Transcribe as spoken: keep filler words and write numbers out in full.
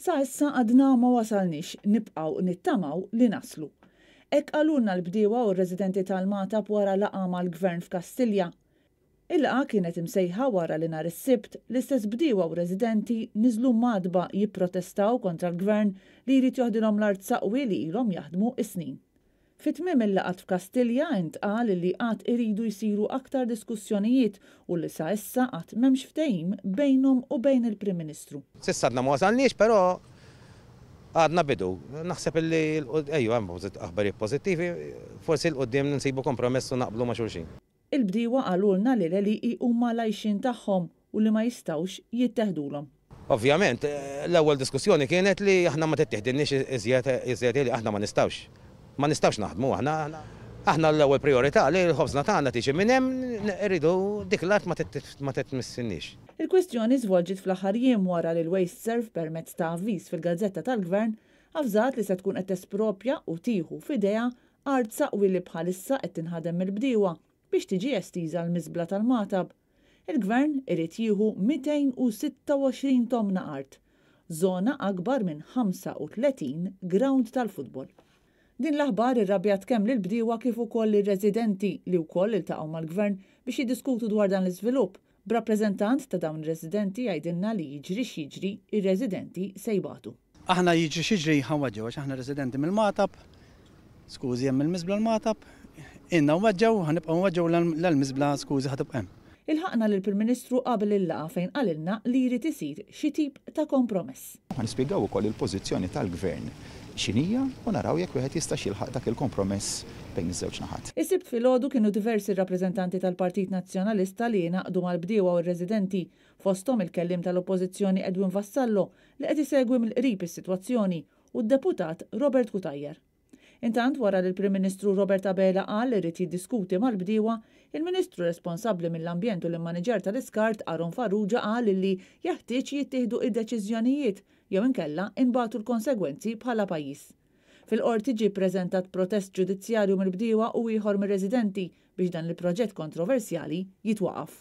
Sa issa għadna ma wasalniex, nibqgħu nittamaw li naslu. Hekk qalulna l-bdiewa u r-residenti tal-Magħtab wara laqgħa mal-Gvern f'Kastilja. Il-laqgħa kienet imsejħa wara li nhar is-Sibt l-istess bdiewa u residenti niżlu madba jipprotestaw kontra l-Gvern li jrid joħdilhom l-art saqwi li ilhom jaħdmu is-snin. Fi tmiem il-laqgħat f'Kastilja intqal li għad iridu jsiru aktar diskussjonijiet u li sa issa għad m'hemmx ftehim bejnhom u bejn il-Prim Ministru. S'issa għadna ma wasalniex, però għadna bidu. Naħseb li ejju hemm aħbarijiet pożittivi, forsi 'l quddiem nsibu kompromess u naqblu ma' xulxin. Il-bdiewa qalulna li l-għelieqi huma l-għajxien tagħhom u li ma jistgħux jitteħdulhom. Ovvjament, l-ewwel diskussjoni kienet li aħna ma tittiħdilniex iżjed iżjed li aħna ma nistgħux. Ma nistgħux naħdmu aħna. Aħna l-ewwel priorità li l-ħobżna tagħna tiġi minn hemm, irridu dik l-art ma titmissinniex. Il-kwistjoni żvolġiet fl-aħħar jiem wara li l-WasteServ permezz ta' avviż fil-Gazzetta tal-Gvern avżat li se tkun qed tespropja u tieħu f'idejha art saqwi li bħalissa qed tinħadem mill-bdiewa biex tiġi estiża l-miżbla tal-Magħtab. Il-Gvern irid jieħu mitejn u sitta u għoxrin tomna art, żona akbar minn ħamsa u tletin ground tal-futbol. Din l-aħbar irrabjat kemm lill-bdiewa kif ukoll lir-residenti li wkoll iltaqgħu mal-Gvern biex jiddiskutu dwar dan l-iżvilupp. B'rappreżentant ta' dawn ir-residenti jgħidilna li jiġri x'jiġri, ir-residenti se jbatu. Aħna jiġri x'jiġri ħa nweġġgħu għax aħna residenti mill-Magħtab, skużi hemm il-miżbla l-Magħtab, ilna nweġġgħu, ħa nibqgħu nweġġgħu l-miżbla skużi ħa tibqa' hemm. Ilħaqna lill-Prim Ministru qabel il-laqgħa fejn qalilna li jrid isir xi tip ta' kompromess. Ħa nispjegaw ukoll il-pożizzjoni tal-Gvern x'inhija u naraw jekk wieħed jistax jilħaq dak il-kompromess bejn iż-żewġ naħat. Is-Sibt filgħodu kienu diversi rappreżentanti tal-Partit Nazzjonalista li jingħaqdu mal-bdiewa u r-residenti, fosthom il-kelliem tal-Oppożizzjoni Edwin Vassallo li qed isegwi mill-qrib is-sitwazzjoni u d-deputat Robert Cutajar. Intant wara li l-Prim Ministru Robert Abela qal li rrid jiddiskuti mal-bdiewa, il-Ministru responsabbli mill-Ambjent u l-Immaniġer tal-Iskart Aaron Farrugia qal li jeħtieġ jittieħdu id-deċiżjonijiet jew inkella inbatu l-konsegwenzi bħala pajjiż. Fil-qorti ġie ppreżentat protest ġudizzjarju mill-bdiewa u ieħor mir-residenti biex dan il-proġett kontroversjali jitwaqaf.